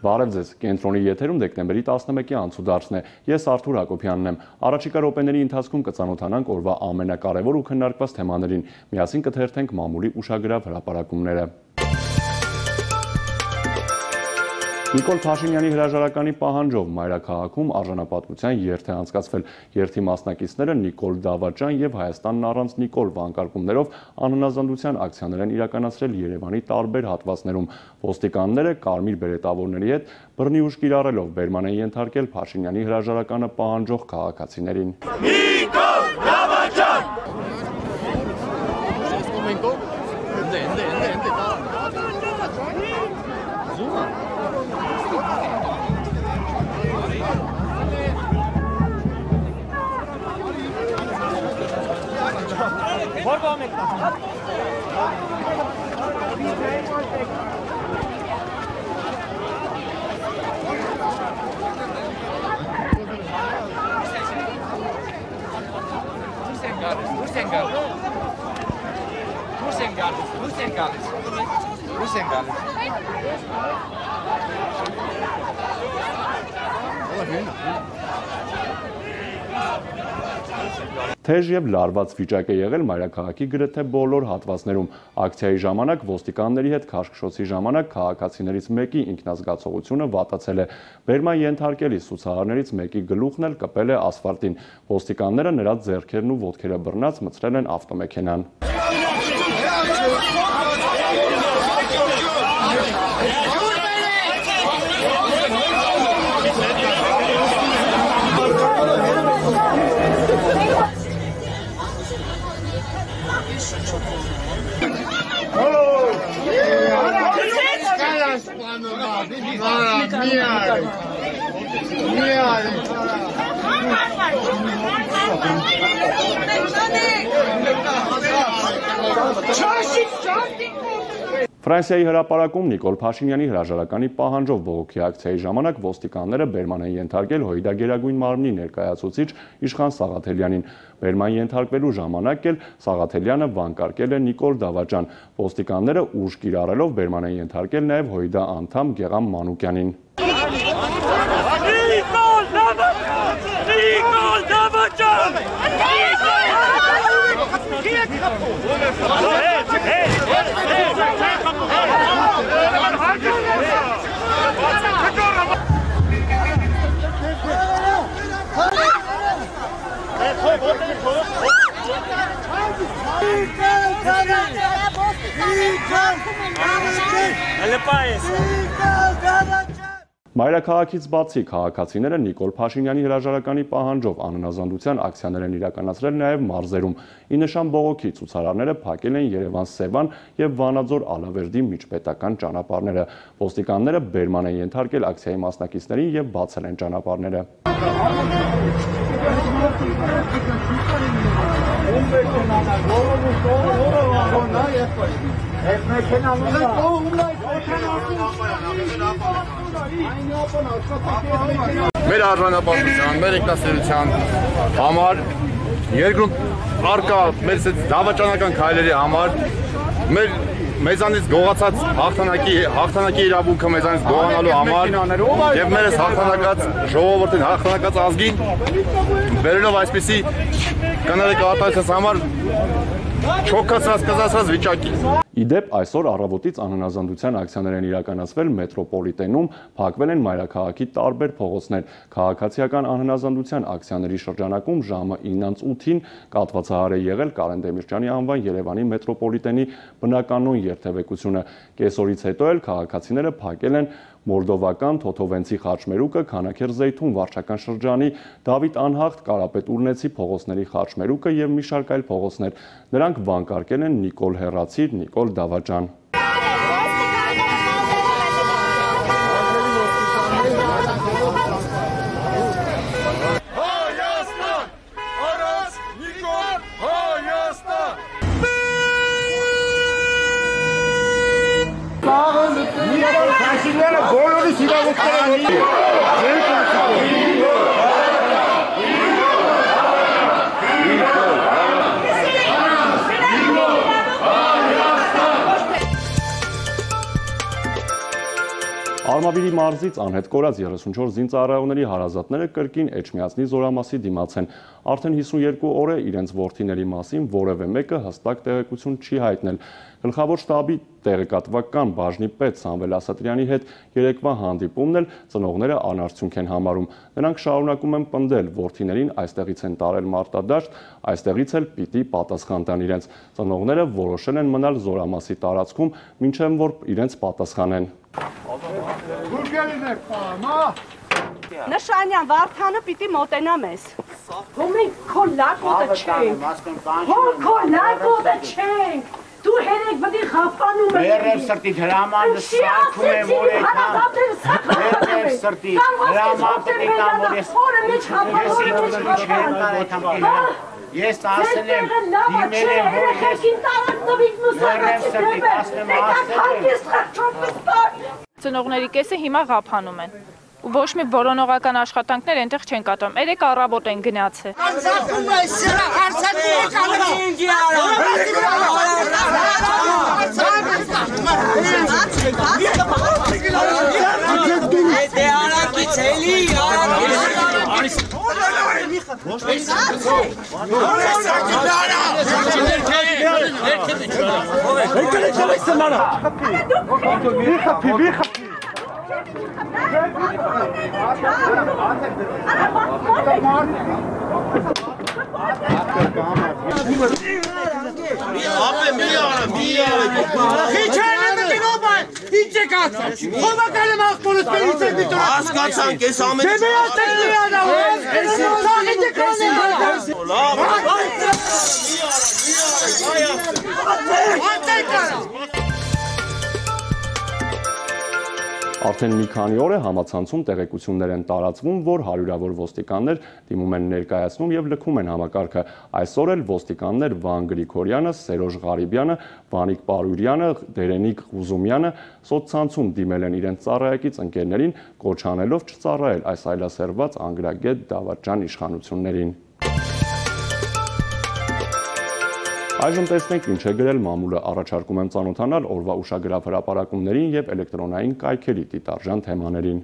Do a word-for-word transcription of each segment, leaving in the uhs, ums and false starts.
Բարև ձեզ, կենտրոնի եթերում դեկտեմբերի տասնմեկի անցուդարձն է, ես Արթուր Հակոբյանն եմ, առաջիկա րոպեների ընթացքում կծանոթանանք օրվա ամենակարևոր ու քննարկված թեմաներին, միասին կթերթենք մամուլի ուշագրավ հրապարակումները։ Նիկոլ Փաշինյանի հրաժարականի պահանջով մայրաքաղաքում արժանապատվության երթ է անցկացվել։ Երթի մասնակիցները Նիկոլ Դավաճան եւ Հայաստանն առանց Նիկոլ վանկարկումներով անհնազանդության ակցիաներ են իրականացրել Երևանի տարբեր հատվածներում։ Ոստիկանները կարմիր բերետավորների հետ բռնի ուժ կիրառելով բերման են ենթարկել Փաշինյանի հրաժարականը պահանջող քաղաքացիներին։ Նիկոլ Դավաճան! Թեժ եւ լարված վիճակ է եղել մայրաքաղաքի գրեթե բոլոր հատվածներում։ Ակցիայի ժամանակ ոստիկանների հետ քաշքշոցի ժամանակ քաղաքացիներից մեկի ինքնազգացողությունը վատացել է։ Բերման ենթարկելիս ցուցարարներից մեկի գլուխն էլ կպել է ասֆալտին։ Ոստիկանները նրա ձեռքերն ու ոտքերը բռնած մցրել են ավտոմեքենան։ Ֆրանսիայի հրապարակում Նիկոլ Փաշինյանի հրաժարականի պահանջով բողոքի ակցիայի ժամանակ ոստիկանները բերման են ենթարկել Հույդա Գերագույն մարմնի ներկայացուցիչ Իշխան Սաղաթելյանին։ Բերման ենթարկվելու ժամանակ էլ Սաղաթելյանը վանկարկել է Նիկոլ Դավաճան։ Ոստիկանները ուժ կիրառելով բերման են ենթարկել նաև Հույդա անդամ Գեղամ Մանուկյանին։ Նիկոլ Դավաճան! Նիկոլ Դավաճան! Մայրաքաղաքից բացի քաղաքացիները Նիկոլ Փաշինյանի հրաժարականի պահանջով անհնազանդության ակցիաներ են իրականացրել նաև մարզերում։ Ի նշան բողոքի ցուցարարները փակել են Երևան-Սևան եւ Վանաձոր-Ալավերդի միջպետական ճանապարհները։ Ոստիկանները բերման են ենթարկել ակցիայի մասնակիցներին եւ բացել են ճանապարհները։ Մեր արժանապատվության, մեր ինքնասերության համար, երկրում առկա մեր դավաճանական քայլերի համար, մեր մեզանից գողացած հաղթանակի հաղթանակի իրավունքը մեզանից գողանալու համար եւ մերս հաղթանակած ժողովրդին, հաղթանակած ազգին վերելով այսպիսի կներկայացած համար չոքացած կզացած վիճակի։ Իդեպ այսօր առավոտից անհնազանդության ակցիաներ են իրականացվել մետրոպոլիտենում, փակվել են մայրաքաղաքի տարբեր փողոցներ։ Քաղաքացիական անհնազանդության ակցիաների շրջանակում ժամը իննից ութին կատվածահար է եղել Կարեն Դեմիրճյանի անվան Երևանի մետրոպոլիտենի բնականոն երթևեկությունը։ Կեսօրից հետո էլ քաղաքացիները փակել են Մորդովական Թոթովենցի խաչմերուկը, Քանաքեր-Զեյթուն վարչական շրջանի, Դավիթ Անհախտ, Կարապետ Ուրնեցի փողոցների խաչմերուկը եւ մի շարք այլ փողոցներ։ Նրանք վանկարկել են Նիկոլ Հեռացիր, Նիկոլ Դավաճան։ Արմավիրի մարզից անհետ կորած երեսունչորս զինծառայողների հարազատները կրկին Էջմիածնի զորամասի դիմաց են։ Արդեն հիսունյոթ օր է իրենց որդիների մասին որևէ մեկը հստակ տեղեկություն չի հայտնել։ Գլխավոր շտաբի տեղեկատվական բաժնի պետ Սամվել Ասատրյանի հետ երեկվա հանդիպումն էլ ծնողները անարդյունք են համարում։ Նրանք շարունակում են պնդել որդիներին այստեղից են տարել մարտադաշտ, այստեղից էլ պիտի պատասխան տան իրենց։ Ծնողները որոշել են մնալ զորամասի տարածքում, մինչև որ իրենց պատասխանեն։ Նշանյան Վարդանը պիտի մոտենա մեզ։ Հո մենք քո լագոտը չենք։ Հո քո լագոտը չենք։ Դու հերեք բդի խապանում ես։ Երև սրտի հրամանը սարքում եմ որ եկամ։ Երև սրտի հրամանը եկամ որ ես։ Ես ասել եմ դիմել եմ որ ես։ Երև սրտի ասեմ ասել։ Ծնողների կեսը հիմա ղափանում են։ Ու ոչ մի որոնողական աշխատանքներ այնտեղ չեն կատարում։ Երեք առավոտ են գնացել։ Անցակում է սրա հարցակի եկանը ինձի արա։ Դե արակից էլի Հասկացանք ես ամեն Արդեն մի քանի օր է համացանցում տեղեկություններ են տարածվում, որ հարյուրավոր ոստիկաններ դիմում են ներկայացնում եւ լքում են համակարգը։ Այսօր էլ ոստիկաններ Վան Գրիգորյանը, Սերոժ Ղարիբյանը, Վանիկ Պարուրյանը, Դերենիկ Ղուզումյանը սոցցանցում դիմել են իրենց ծառայակից ընկերներին, կոչ անելով չծառայել այս այլասերված անգրագետ դավաճան իշխանություններին։ Այժմ տեսնենք ինչ է գրել մամուլը, առաջարկում եմ ծանոթանալ օրվա ուշագրավ հրապարակումներին եւ էլեկտրոնային կայքերի դիտարժան թեմաներին։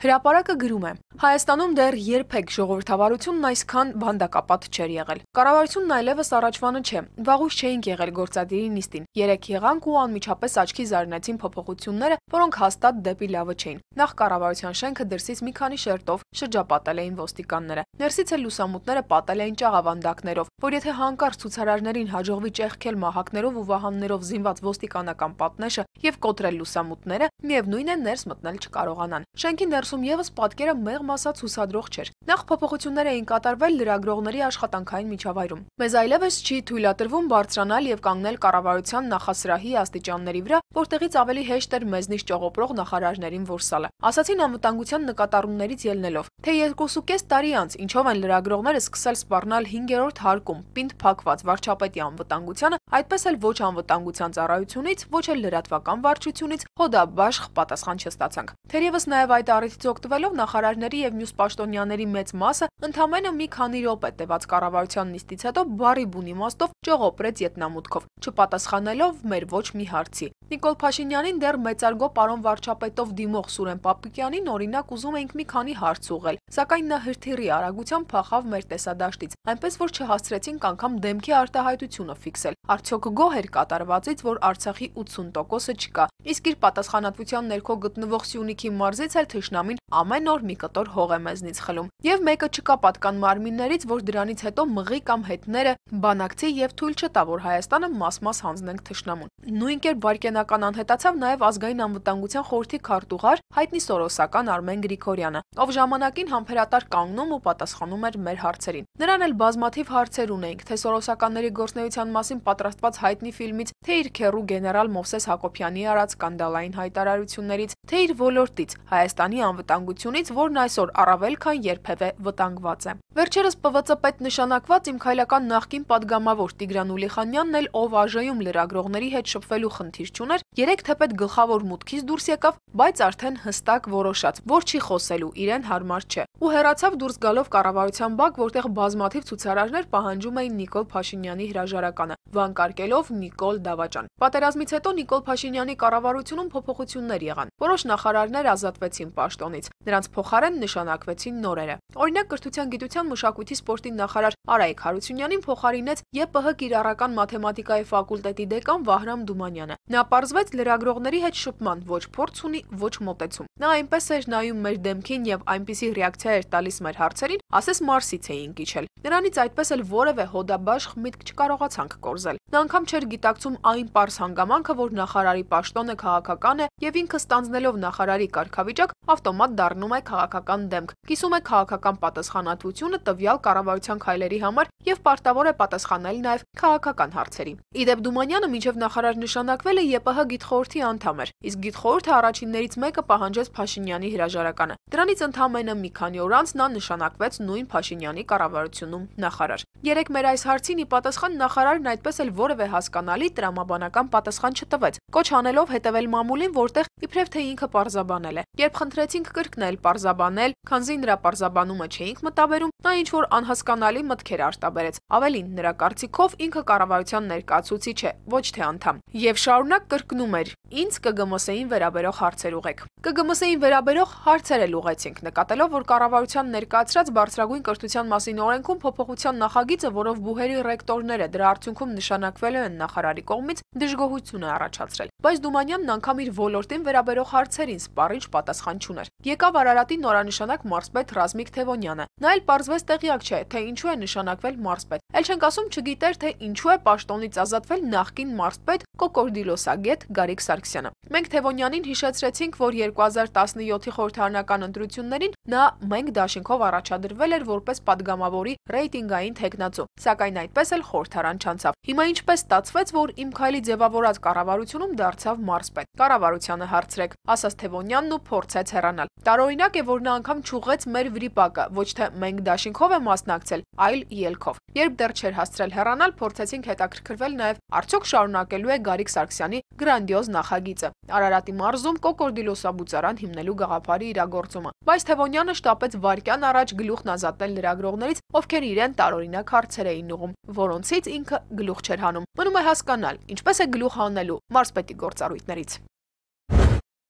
Հրապարակը գրում է. Հայաստանում դեռ երբեք ժողովրդավարությունն այսքան բանդակապատ չէր եղել։ Կառավարությունն այլևս առաջվանը չէ։ Վաղուց չէինք եղել գործադիրի նիստին։ Երեք եղանք ու անմիջապես աչքի զարնեցին փոփոխությունները, որոնք հաստատ դեպի լավը չէին։ Նախ կառավարության շենքը դրսից մի քանի շերտով շրջապատել էին ոստիկանները։ Ներսից էլ լուսամուտները պատել էին ճաղավանդակներով, որ եթե հանկարծ ցուցարարներին հաջողվի ճեղքել մահակներով ու վահաններով զինված ոստիկանական պատնեշը եւ կոտրել լուսամուտները, միևնույն է ներս մտնել չկարողանան։ Շենքի ներսում եւս պատկերը մեղմ ասած հուսադրող չէր։ Նախ փոփոխություններ էին կատարվել լրագրողների աշխատանքային միջավայրում։ Մեզ այլևս չի թույլատրվում բարձրանալ եւ կանգնել կառավարության նախասրահի աստիճանների վրա, որտեղից ավելի հեշտ էր մեզնից ճողոպրող նախարարներին որսալը։ Ասացին անվտանգության նկատառումներից ելնելով, թե երկուսուկես տարի անց ինչով են լրագրողները սկսել սպառնալ հինգերորդ հարկում պինդ փակված վարչապետի անվտանգությանը, այդպես էլ ոչ անվտանգության ծառայությունից, ոչ էլ լրատվական վարչությունից հոդաբաշխ պատասխան չստացանք։ Թերևս նաեւ այդ առիթից օգտվելով նախարարների եւ մյուս պաշտոնյաների մեծ մասը ընդամենը մի քանի րոպե տևած կառավարության նիստից հետո բարի բուն իմաստով ճողոպրեց ետնամուտքով, չպատասխանելով մեր ոչ մի հարցի։ Նիկոլ Փաշինյանին դեռ մեծարգո պարոն վարչապետով դիմող Սուրեն Պապիկյանին օրինակ ուզում էինք մի քանի հարց ուղղել, սակայն նա հրթիռի արագությամբ փախավ մեր տեսադաշտից, այնպես որ չհասցրեցինք անգամ դեմքի արտահայտությունը ֆիքսել։ Արդյոք գոհ էր կատարվածից, որ Արցախի ութսուն տոկոսը չկա, իսկ իր պատասխանատվության ներքո գտնվող Սյունիքի մարզից էլ թշնամին ամեն օր մի կտոր հող է մեզնից խլում։ Եվ մեկը չկա պատկան մարմիններից, որ դրանից հետո մղի կամ հետները բանակցի եւ թույլ չտա, որ Հայաստանը մաս-մաս հանձնենք թշնամուն։ Նույն կերպ վարկենական անհետացավ նաեւ ազգային անվտանգության խորհրդի քարտուղար հայտնի սորոսական Արմեն Գրիգորյանը, ով ժամանակին համբերատար կանգնում ու պատասխանում էր մեր հարցերին։ Նրան էլ բազմաթիվ հարցեր ունեինք, թե սորոսականների գործնեության մասին պատրաստված հայտնի ֆիլմից, թե իր քեռու գեներալ Մովսես Հակոբյանի արած սկանդալային հայտարարություններից, թե իր ոլորտից Հայաստանի անվտանգությունից, որն այսօր առավել քան երբևէ վտանգված է։ Վերջերս Պ V Ծ պետ նշանակված իմ քայլական նախկին падգամավոր Տիգրան Ուլիխանյանն էլ, ով ԱԺ-ում լրագրողների հետ շփվելու խնդիր չուներ, երեք թեպետ գլխավոր մուտքից դուրս եկավ, բայց արդեն հստակ որոշած, որ չի խոսելու, իրեն հարմար չէ, ու հեռացավ դուրս գալով կառավարության բակ, որտեղ բազմաթիվ ցուցարարներ պահանջում էին Նիկոլ Փաշինյանի հրաժարականը, վանկարկելով Նիկոլ Դավաճան։ Պատերազմից հետո Նիկոլ Փաշինյանի կառավարությունում փոփոխություններ եղան։ Որոշ նախարարներ ազատվեցին պաշտոնից, նրանց փոխարեն նշանակվեցին նորերը։ Օրինակ, կրթության, գիտության, մշակույթի, սպորտի նախարար Արայիկ Հարությունյանին փոխարինեց Ե Պ Հ կիրառական մաթեմատիկայի ֆակուլտետի դեկան Վահրամ Դումանյանը։ Նա պարզվեց լրագրողների հետ շփման ոչ փորձ ունի, ոչ մոտեցում։ Նա այնպես էր նայում մեր դեմքին եւ այնպիսի ռեակցիա էր տալիս մեր հարցերին, ասես Մարսից էին կիչել։ Նրանից այդպես էլ որևէ հոդաբաշխ միտք չկարողացանք կորզել։ Նա անգամ չէր գիտակցում այն պարզ հանգամանքը, որ նախարարի պաշտոնը քաղաքական է եւ ինքը ստանձնելով նախարարի կարգավիճակ ավտոմատ դառնում է քաղաքական դեմք, կիսում է քաղաքական պատասխանատվությունը տվյալ կառավարության քայլերի համար եւ պարտավոր է պատասխանել նաեւ քաղաքական հարցերի։ Իդեպ Դումանյանը մինչեւ նախարար նշանակվել է Ե Պ Հ գիտխորհրդի անդամ էր, իսկ գիտխորհուրդը առաջիններից մեկը պահանջեց Փաշինյանի հրաժարականը։ Դրանից ընդամենը մի քանի օր անց նա նշանակվեց նույն Փաշինյանի կառավարությունում նախարար։ Երեք մեր այս հարցին ի պատասխան նախարարն այդպես էլ որևէ հասկանալի տրամաբանական պատասխան չտվեց, կոչ անելով հետևել մամուլին, որտեղ իբրև թե ինքը պարզաբանել է։ Երբ խնդրեցինք կրկնել պարզաբանել, քանզի նրա պարզաբանումը չէինք մտաբերում, նա ինչ-որ անհասկանալի մտքեր արտաբերեց։ Ավելին, նրա կարծիքով ինքը կառավարության ներկայացուցիչ է, ոչ թե անդամ։ Եվ շարունակ կրկնում էր. «Ինձ Կ Գ Մ Ս-ին վերաբերող հարցեր ուղեք»։ Կ Գ Մ Ս-ին վերաբերող հարցեր էլ ուղեցինք, նկատելով, որ կառավարության ներկայացրած բարձրագույն կրթության մասին օրենքում փոփոխության նախագիծը, որով բուհերի ռեկտորները դրա արդյունքում նշանակվելու են նախարարի կողմից, դժգոհություն է առաջացրել։ Բայց Դումանյանն անգամ իր ոլորտին վերաբերող հարցերին սպառիչ պատասխան չուներ։ Եկավ Արարատի նորանշանակ մարզպետ Ռազմիկ Թևոնյանը։ Նա էլ պարզվեց տեղյակ չէ, թե ինչու է նշանակվել մարզպետ։ Էլ չենք ասում չգիտեր, թե ինչու է պաշտոնից ազատվել նախկին մարզպետ կոկորդիլոսագետ Գարիկ Սարգսյանը։ Մենք Թևոնյանին հիշեցրեցինք, որ երկու հազար տասնյոթի խորհրդարանական ընտրություններին նա մենք դաշինքով առաջադրվել էր որպես падգամավորի ռեյտինգային թեկնածու, սակայն այդպես էլ խորհրդարան չանցավ։ Հիմա ինչպես ստացվեց, որ իմ քայլի ձևավորած կառավարությունում դարձավ մարզպետ։ Կառավարությանը հարցրեք, ասաց Թևոնյանն ու փորձեց հեռանալ։ Տարօրինակ է, որ նա անգամ չուղղեց մեր վրիպակը, ոչ թե մենք դաշինքով է մասնակցել, այլ ելքով։ Երբ դեռ չէր հասցրել հեռանալ, փորձեցինք հետաքրքրվել նաև արդյոք շարունակելու է Գարիկ Սարգսյանի գրանդիոզ նախագիծը Արարատի մարզում կոկորդիլոսաբուծարան հիմնելու գաղափարի իրագործումը։ Բայց Թևոնյանը շտապեց վայրկյան առաջ գլուխն ազատել լրագրողներից, ովքեր իրեն տարօրինակ հարցեր էին ուղղում, որոնցից ինքը գլուխ չէր հանում։ Մնում է հասկանալ, ինչպես է գլուխ հանելու մարզպետի գործառույթներից։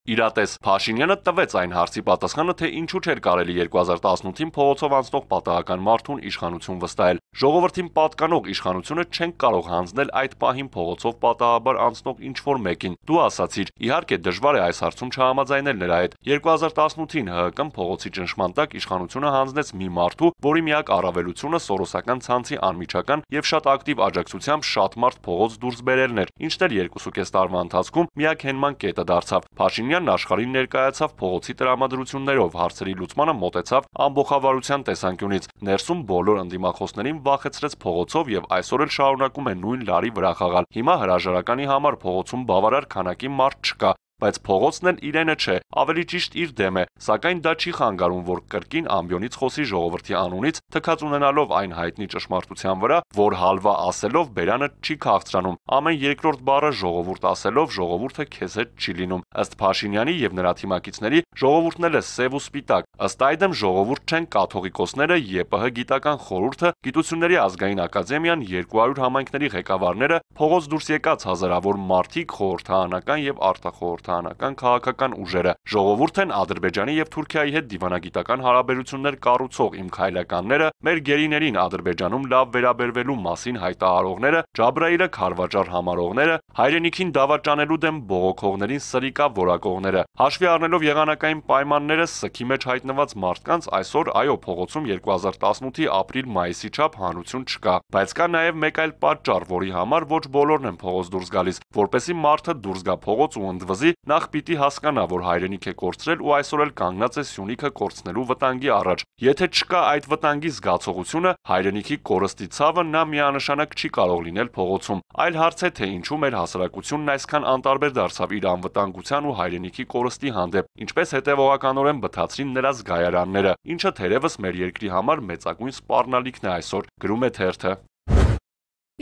Իրատես Փաշինյանը տվեց այն հարցի պատասխանը, թե ինչու չէր կարելի երկու հազար տասնութին փողոցով անցնող պատահական մարդուն իշխանություն վստահել։ Ժողովրդին պատկանող իշխանությունը չեն կարող հանձնել այդ պահին փողոցով պատահաբար անցնող ինչ-որ մեկին։ Դու ասացիր, իհարկե դժվար է այս հարցում չհամաձայնել նրա հետ։ երկու հազար տասնութին Հ Հ Կ-ն փողոցի ճնշման տակ իշխանությունը հանձնեց մի մարդու, որի միակ առավելությունը սորոսական ցանցի անմիջական եւ շատ ակտիվ աջակցությամբ շատ մարդ փողոց դուրս բերելն էր, ինչն էլ երկուսուկես տարվա ընթացքում միակ հենման կետը դարձավ։ Փաշինյանն աշխարհին ներկայացավ փողոցի տրամադրություններով, հարցերի լուծմանը մոտեցավ ամբողջավարության տեսանկյունից։ Ներսում բոլոր ընդդիմախոսներին վախեցրեց փողոցով եւ այսօր էլ շարունակում է նույն լարի վրա խաղալ։ Հիմա հրաժարականի համար փողոցում բավարար քանակի մարդ չկա, բայց փողոցն էլ իրենը չէ, ավելի ճիշտ իր դեմ է, սակայն դա չի խանգարում, որ կրկին ամբիոնից խոսի ժողովրդի անունից, թքած ունենալով այն հայտնի ճշմարտության վրա, որ հալվա ասելով բերանը չի քաղցրանում, ամեն երկրորդ բառը ժողովուրդ ասելով ժողովուրդը քեզ հետ չի լինում։ Ըստ Փաշինյանի եւ նրա թիմակիցների ժողովուրդն էլ է սև ու սպիտակ, ըստ այդմ ժողովուրդ չեն կաթողիկոսները, Ե Պ Հ գիտական խորհուրդը, Գիտությունների ազգային ակադեմիան, երկու հարյուր համայնքների ղեկավարները, փողոց դուրս եկած հազարավոր մարդիկ, խորհրդարանական եւ արտախորհրդարանական քաղաքական ուժերը, ժողովուրդ են Ադրբեջանի եւ Թուրքիայի հետ դիվանագիտական հարաբերություններ կառուցող իմ քայլականները, մեր գերիներին Ադրբեջանում լավ վերաբերվելու մասին հայտարարողները, Ջաբրայիլը քարվաճառ համարողները, հայրենիքին դավաճանելու դեմ բողոքողներին սրիկա որակողները, հաշվի առնելով եղանակային պայմանները, սքի մեջ հայտնված մարդկանց այսօր այո փողոցում երկու հազար տասնութի ապրիլ-մայիսի չափ հանրություն չկա, բայց կա նաեւ մեկ այլ պատճառ, որի համար ոչ բոլորն են փողոց դուրս գալիս, որպեսզի մարդը դուրս գա փողոց ու ընդվզի, Նախ պիտի հասկանա, որ հայրենիք է կորցրել ու այսօր էլ կանգնած է Սյունիքը կորցնելու վտանգի առաջ։ Եթե չկա այդ վտանգի զգացողությունը, հայրենիքի կորստի ցավը նա միանշանակ չի կարող լինել փողոցում։ Այլ հարց է, թե ինչու մեր հասարակությունն այսքան անտարբեր դարձավ իր անվտանգության ու հայրենիքի կորստի հանդեպ, ինչպես հետևողականորեն բթացրին նրա զգայարանները, ինչը թերևս մեր երկրի համար մեծագույն սպառնալիքն է այսօր, գրում է թերթը։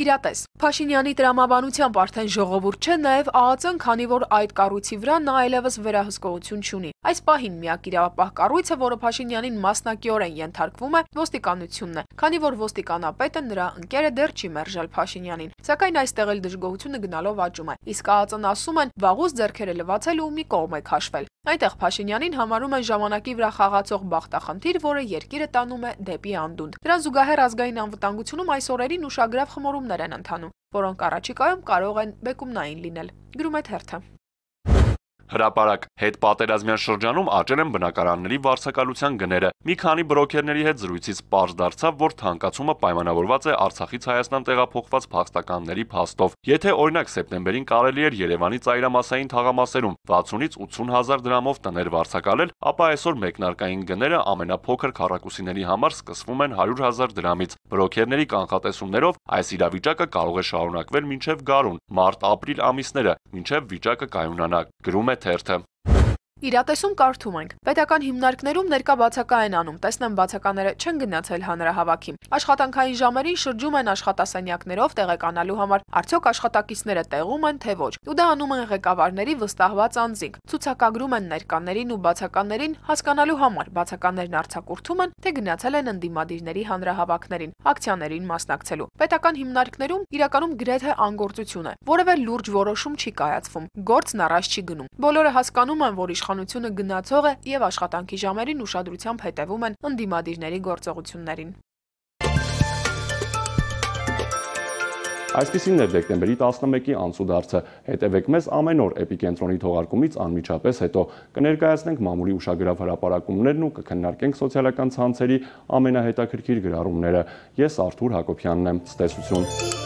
Իրատես, Փաշինյանի տրամաբանությամբ արդեն ժողովուրդ չէ, նաև ԱԱԾ-ն, քանի որ այդ կառույցի վրա նա այլևս վերահսկողություն չունի։ Այս պահին միակ իրավապահ կառույցը, որը Փաշինյանին մասնակիորեն ենթարկվում է, ոստիկանությունն է, քանի որ ոստիկանապետը նրա ընկերը դեռ չի մերժել Փաշինյանին։ Սակայն այստեղ էլ դժգոհությունը գնալով աճում է։ Իսկ ԱԱԾ-ն ասում են, վաղուց ձեռքերը լվացել ու մի կողմ է քաշվել։ Այնտեղ Փաշինյանին համարում են ժամանակի վրա խաղացող բախտախնդիր, որը երկիրը տանում է դեպի անդունդ։ Դրան զուգահեռ ազգային անվտանգությունում այս օրերին ուշագրավ խմորումներ են ընթանում, որոնք առաջիկայում կարող են բեկումնային լինել, գրում է թերթը։ Հրապարակ, հետպատերազմյան շրջանում աճել են բնակարանների վարձակալության գները։ Մի քանի բրոքերների հետ զրույցից պարզ դարձավ, որ թանկացումը պայմանավորված է Արցախից Հայաստան տեղափոխված փախստականների փաստով։ Եթե օրինակ սեպտեմբերին կարելի էր Երևանի ծայրամասային թաղամասերում վաթսունից ութսուն հազար դրամով տներ վարձակալել, ապա այսօր մեկնարկային գները ամենափոքր քառակուսիների համար սկսվում են հարյուր հազար դրամից։ Բրոքերների կանխատեսումներով այս իրավիճակը կարող է շարունակվել մինչև գարուն, մարտ-ապրիլ ամիսները, մինչև վիճակը կայունանա, գրում է թերթը։ Իրատեսում կարդում ենք. պետական հիմնարկներում ներկա բացակա են անում, տեսնեմ բացակաները չեն գնացել հանրահավաքի։ Աշխատանքային ժամերին շրջում են աշխատասենյակներով տեղեկանալու համար, արդյոք աշխատակիցները տեղում են, թե ոչ։ Ու դա անում են ղեկավարների վստահված անձինք։ Ցուցակագրում են ներկաներին ու բացականերին հասկանալու համար, բացականներն արձակուրդում են, թե գնացել են ընդդիմադիրների հանրահավաքներին, ակցիաներին մասնակցելու։ Պետական հիմնարկներում իրականում գրեթե անգործություն է, որևէ լուրջ որոշում չի կայացվում, գործն առաջ չի գնում։ Բոլորը հասկանում են, որ իշխանությունը գնացող է եւ աշխատանքի ժամերին ուշադրությամբ հետևում են ընդդիմադիրների գործողություններին։ Այսպիսին էր դեկտեմբերի տասնմեկի անցուդարձը։ Հետևեք մեզ ամեն օր Էպիկենտրոնի թողարկումից անմիջապես հետո։ Կներկայացնենք մամուլի ուշագրավ հրապարակումներն ու կքննարկենք սոցիալական ցանցերի ամենահետաքրքիր գրառումները։ Ես Արթուր Հակոբյանն եմ, ցտեսություն։